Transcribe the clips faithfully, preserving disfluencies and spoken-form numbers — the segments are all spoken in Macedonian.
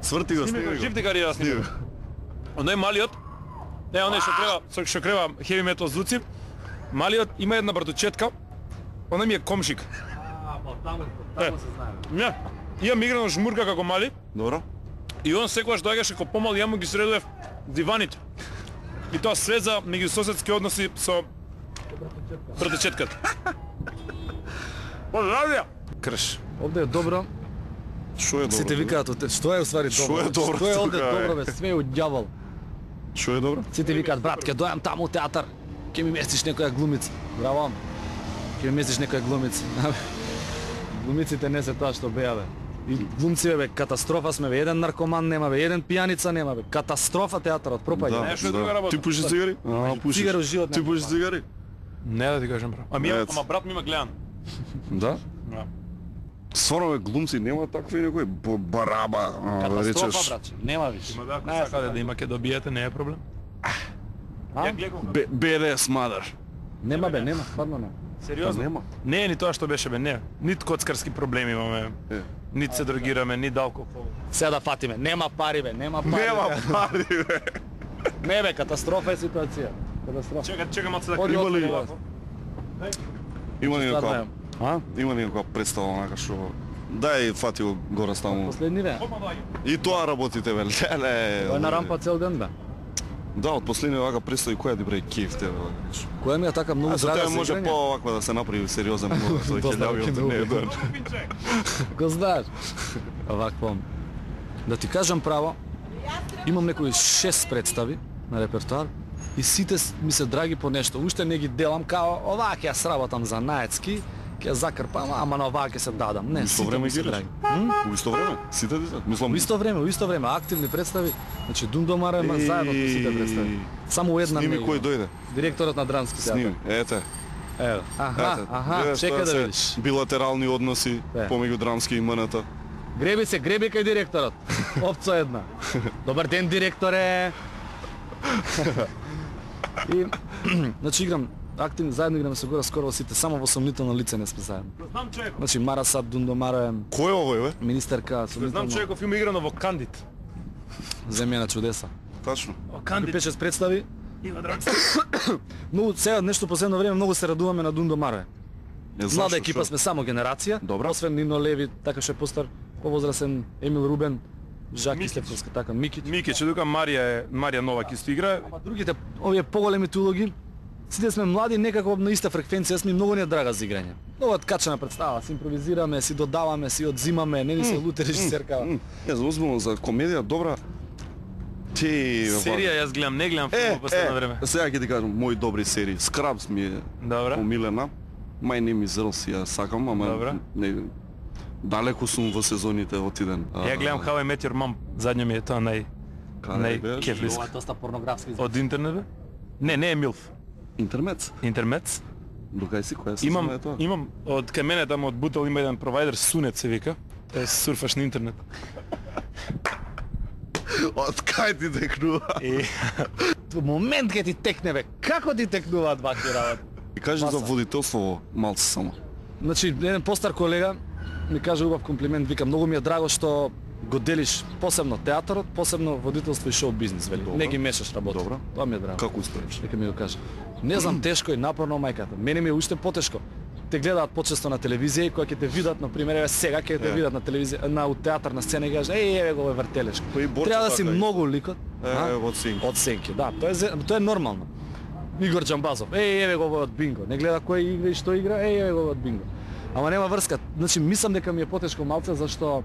Сврти го, Сниме го, сниме жив го. ти кариера сниме. Оној малиот, е, оној што крeva, со што крeva heavy metal звуци, малиот има една братучетка, оној ми е комшик. А, па таму, таму се знае. Не, имам играно жмурка како мали, Добро. и он секогаш доаѓаше како помал, ја му ги средував диваните. И тоа свеза меѓусоседски односи со братучетката. Поздравија! Крш. Овде е добро. Што е добро? Сите викаат, оте- што е уствари Што добро? е добро Што е овде тука, добро бе? бе, све од ѓавол. Што е добро? Сите викаат, брат, ќе дојам таму у театар, ќе ми местиш некоја глумица. Браво. Ќе ми местиш некоја глумица. Глумиците не се тоа што беа бе. И глумци бе, катастрофа сме бе, еден наркоман нема бе, еден пијаница нема бе. Катастрофа театарот, пропаѓа. Не, што е друга работа. Ти пушиш цигари? А, пушиш. Цигари у живот Ти нема. пушиш цигари? Не да ти кажам право. Ами, Ец. ама брат ми има гледан. Да? Да. Стварно бе, глумци нема такви некои б- бараба, а, да Катастрофа, речеш. брат. Нема виш. Има да, ако Не, сакате да има ке добиете, не е проблем. А? Ја гледам. Б- БДС mother. Нема бе, нема, стварно нема. Сериозно? Нема. Не е ни тоа што беше бе, не. Нит коцкарски проблеми имаме. Е. Нит се дрогираме, нит алкохол. Сега да фатиме, нема пари бе, нема пари. Нема бе. пари бе. Не бе, катастрофа е ситуација. Катастрофа. Чека, чека малце да Оди, кривам. оди, Овако. Има ли Стварно некоја е. А? има ли некоја представа онака што дај фати го горе таму. Последни бе. Опа, доаѓа. И тоа работите бе. Леле. Тоа е на рампа цел ден бе. Да, од последни вака представи која ти бре кеф тебе. Која ми е така многу А за драга тоа за може играње? по-оваква да се направи сериозен мув, тој ќе Доста дави ќе од ме не убие. да. Пинче. Го знаеш. Овакво. Да ти кажам право, имам некои шест представи на репертоар и сите с- ми се драги по нешто. Уште не ги делам као оваа ќе ја сработам за наецки, ќе ја закрпам, ама на оваа ќе се дадам. Не, Исто сите време ми се ги драги. У исто време? Сите дете? Мислам, У исто време, у исто време, активни представи, значи Дундомара има заедно со сите представи. Само у една Сними не кој има. дојде. Директорот на драмски театар. Сними. Ете. Ево. Аха, Ете. аха, Гледаш, чекај тоа да се видиш. Билатерални односи Е. помеѓу драмски и МНТ. Греби се, греби кај директорот. Опцо една. Добар ден, директоре. И значи играм активно заедно играме со гора скоро во сите, само во сомнително лице не сме заедно. Знам човеков. Значи Мара Сад Дундомара е Кој е овој бе? министерка Знам сомнително човеков има играно во Кандид. земја на чудеса. Тачно. Во И Кандид. пет шест представи. Има драмски. Многу сега нешто последно време многу се радуваме на Дундомара. Е, Млада зашто, екипа шо? сме, само генерација. Добра. Освен Нино Леви, така што е постар, повозрасен Емил Рубен, Жаки Микич. Стефанска, така Микич. Микич, дука Марија е Марија Новак исто игра. Ама другите, овие поголемите улоги, сите сме млади, некако на иста фреквенција, сме многу не драга за играње. Многу откачана представа, си импровизираме, си додаваме, си одзимаме, не ни се луте режисеркава. Е, за озбилно за комедија добра. Ти Серија јас гледам, не гледам филм Е, во последно е, време. сега ќе ти кажам мои добри серии. Scrubs ми е Добра. помилена. My Name is Earl си ја сакам, ама Добра. не далеку сум во сезоните отиден. Ја гледам How I Met Your Mom, задња ми е тоа нај нај беш? кефлиска. Ова е доста порнографски. Од интернет бе? Не, не е Милф. Интернет. Интернет. Докај си која се Имам е тоа? имам од кај мене таму од Бутел има еден провайдер Сунет се вика. Тоа е сурфаш на интернет. Од кај ти декнува? И Во момент ќе ти текне бе, како ти текнуваат вакви работи? И кажи за Маса. водителство во малце само. Значи, еден постар колега ми каже убав комплимент, вика, многу ми е драго што го делиш посебно театарот, посебно водителство и шоу бизнис, вели. Добро. Не ги мешаш работи. Добро. Тоа ми е драго. Како успееш? Нека ми го каже. Не знам, тешко и напорно мајката. Мене ми е уште потешко. Те гледаат почесто на телевизија и кога ќе те видат, на пример, еве сега ќе те Е. видат на телевизија, на у театар на сцена и кажат: "Еј, еве го овој вртелешко." Па и Борчо Треба да си така и. многу ликот. Е, а? од синки. Од сенки, да, тоа е зе- тоа е нормално. Игор Џамбазов, еј, еве го овој од бинго. Не гледа кој игра и што игра, еј, еве го овој од бинго. Ама нема врска. Значи мислам дека ми е потешко малце зашто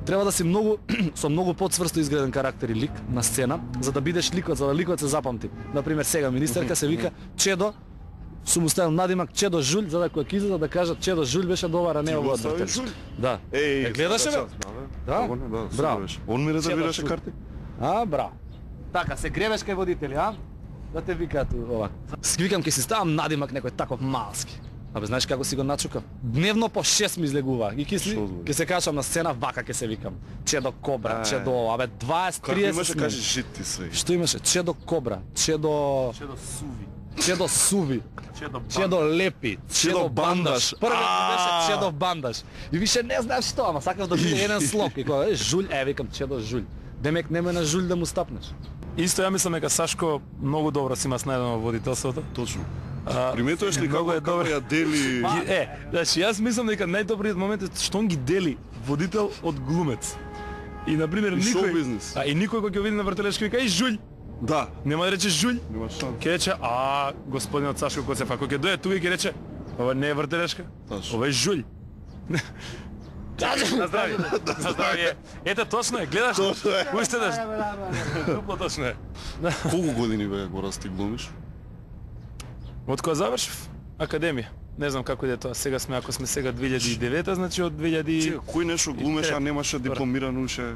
треба да си многу со многу подсврсто изграден карактер и лик на сцена за да бидеш ликот, за да ликот се запамти. На пример сега министерка се вика Чедо, сум уставил надимак Чедо Жулј за да кога ќе излезе да кажат Чедо Жулј беше добар, а не Ти го овој од остави Вртелешко. Жулј? Да. Еј, Е, гледаше бе? Да, Да? Како не, да, супер Браво. беше. Он ми резервираше Чедо Жулј. карти. А, браво. Така, се гребеш кај водители, а? Да те викаат овако. Си викам, ќе си ставам надимак некој таков малски. Абе, знаеш како си го начукав? Дневно по шест ми излегува. И ќе си, Шо збори? ќе се качам на сцена, вака ќе се викам. Чедо Кобра, Ај. Чедо, абе дваесет Како триесет имаше смени. кажи жит ти све. Што имаше? Чедо Кобра, Чедо... Чедо Суви. Чедо Суви, Чедо Чедо Лепи, Чедо Бандаш. Првиот ми беше Чедо Бандаш. И више не знаеш што, ама сакав да биде еден слог. И кога е Жулј, е, викам Чедо Жулј. Демек нема на жулј да му стапнеш. Исто ја мислам дека Сашко многу добро си има снајдено во водителството. Точно. А, Приметуваш ли многу како е како добро. ја дели? Ги- Е, значи јас мислам дека најдобриот момент е што он ги дели водител од глумец. И на пример И никој шоу-бизнес. А и никој кога ќе види на вртелешки вика и жулј. Да. Нема да рече жулј. Нема шанс. Ќе рече а господинот Сашко Коцев, ако ќе дојде тука и ќе рече ова не е вртелешка. Точно. Ова е жулј. На здравје. На здравје. Ете точно е, гледаш. Точно е. Уште да. Дупло точно е. Колку години бе го расти глумиш? Од кога завршив академија. Не знам како иде тоа. Сега сме, ако сме сега две илјади и девета, значи од две илјади Чека, кој нешто глумеше, а немаше дипломирано уше?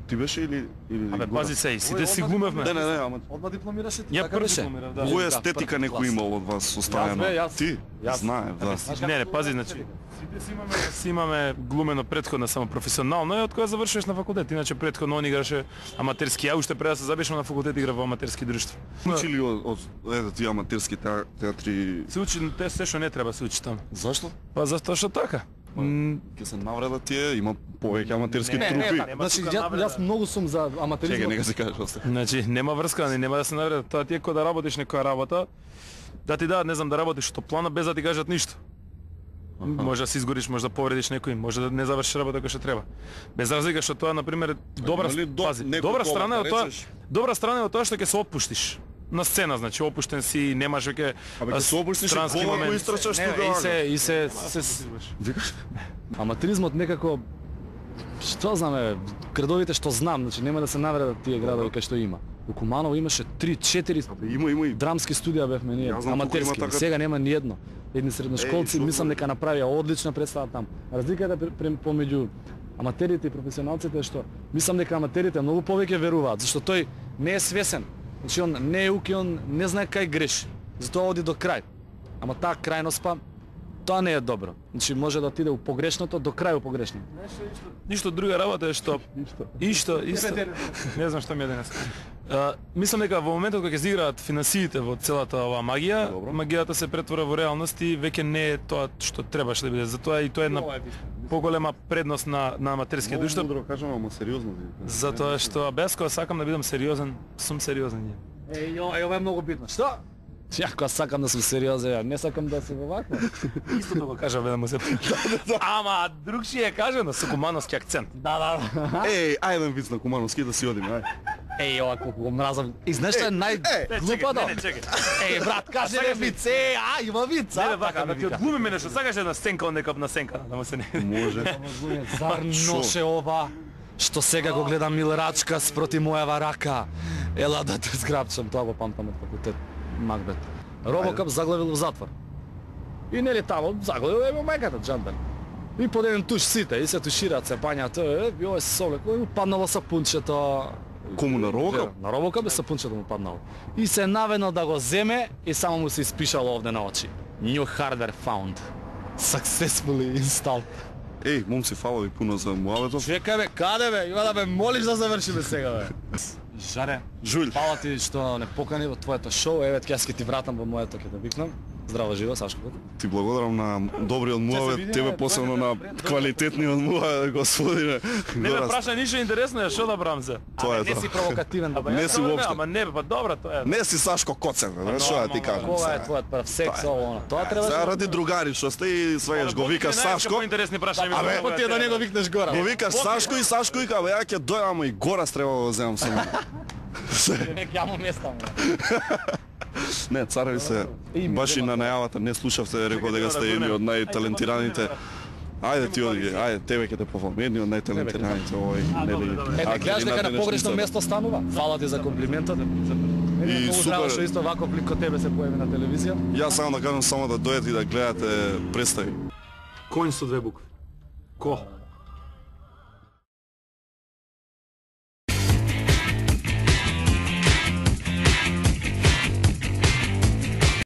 Ти беше или или Абе, Гора? пази се, и сите си глумевме. Не, не, не, ама Одма дипломираше ти, Ја така прв беше? дипломирав, да. која Да, естетика прв некој клас. имал од вас оставено? Јас бе, јас- Ти? јас- Знаев, да. Не, не, пази, значи сите си имаме, си имаме глумено претходно само професионално и од кога завршуваш на факултет. Иначе претходно он играше аматерски. Ја уште пред да се запишам на факултет играв во аматерски друштво. Учи ли од, од ете тие аматерски теа- театри? Се учи те се што не треба се учи таму. Зашто? Па затоа што така. М, Ќе се навредат тие, има повеќе аматерски Не, не, трупи. не, Нема Значи, тука ја- навреда. јас многу сум за Чекај, аматеризмот. нека се кажеш оста. Значи, нема врска, не, нема да се навреда. Тоа ти е кога да работиш некоја работа, да ти дадат, не знам, да работиш што плана без да ти кажат ништо. Може да се изгориш, може да повредиш некој, може да не завршиш работа која што треба. Без разлика што тоа на пример добра има ли до- пази, некој добра повод, страна е да од тоа. речеш? Добра страна е од тоа што ќе се отпуштиш. На сцена, значи опуштен си, немаш веќе Абе, ќе се опуштиш и странски гола го момент. истрчаш Не, тука, И ага. се и се се, се Викаш? Аматеризмот некако што знаме, градовите што знам, значи нема да се навредат тие градови кај што има. Во Куманово имаше три четири Има, има и драмски студија бевме ние, Јас знам колку аматерски. има така- Сега нема ни едно. Едни средношколци Еј, мислам што дека направија одлична представа там. Разликата пре- пре- помеѓу аматерите и професионалците е што мислам дека аматерите многу повеќе веруваат, зашто тој не е свесен. Значи он не е уки, он не знае кај греши. Затоа оди до крај. Ама таа крајност па тоа не е добро. Значи може да отиде у погрешното до крај у погрешното. Ништо друга работа е што Ишто, исто. Не знам што ми е денес. А, мислам дека во моментот кога ќе се играат финансиите во целата оваа магија, Добро. магијата се претвора во реалност и веќе не е тоа што требаше да биде. Затоа и тоа е една поголема предност на на аматерскиот Многу душтап. мудро кажам, ама сериозно ти. Затоа што без кога сакам да бидам сериозен, сум сериозен. Еј, ова е, ова е многу битно. Што? Ја кога сакам да сум сериозен, ја не сакам да се вовакво. Истото го кажа да му се. Ама другши е кажано со кумановски акцент. Да, да. Еј, ајде виц на Кумановски да си одиме, ај. Еј, ова колку го мразам. И знаеш што е најглупото? Не, не, чекај. Еј, брат, кажи сакаш не ли- виц, еј, а, има виц, Не а? бе вака, да ти одглумиме нешто. Сакаш една сценка од некој на сценка, да му се не. Може. Зар ноше ова? Што сега го гледам Милрачка спроти мојава рака. Ела да те зграбчам, тоа го памтам од факултет Макбет. Робокап заглавил во затвор. И нели тамо заглавил е во мајката Джандан. И под еден туш сите, и се тушираат, се пањаат, е, и ова се совлек, кој му паднало сапунчето. Кому на Робокап? На Робокап е сапунчето му паднало. И се навено да го земе и само му се испишало овде на очи. New hardware found. Successfully installed. Еј, момци, фала ви пуно за муабетов. Чекај бе, каде бе? Има да ме молиш да завршиме сега бе. Жаре, Жулј. фала ти што не покани во твоето шоу. Еве ќе јас ќе ти вратам во моето, ќе те викнам. Здраво живо, Сашко. Ти благодарам на добриот муабет, видиме, тебе тоа посебно е на добро. квалитетниот муабет, господине. Не ме Гора, праша ништо интересно, што да брам се. Тоа е Не си тоа. провокативен. Ама Не јас си тоа уопште. Ама не, па добро тоа е. Не си Сашко Коцев, бе, што да ти кажам. Кога е сега? твојот прв секс, ово, оно. Тоа треба Сега да ради другари што сте и сваѓаш го викаш Сашко. Поинтересни прашања ми. Абе, Па ти е да не го викнеш гора. Го викаш Сашко и Сашко и кај ја ќе дојдам, ама и гора треба да го земам со мене. Нек јамо места. Не, цареви се, И ми баш и на најавата не слушавте, рекол дека сте едни од најталентираните. Ајде ти оди, ајде тебе ќе те пофалам, едни од најталентираните овој, нели. Е, не гледаш дека на погрешно место станува? Фала ти за комплиментот. И И супер. супер. Што исто вако лик кod тебе се појави на телевизија. Јас само да кажам само да дојдете и да гледате представи. Конј со две букви. Ко?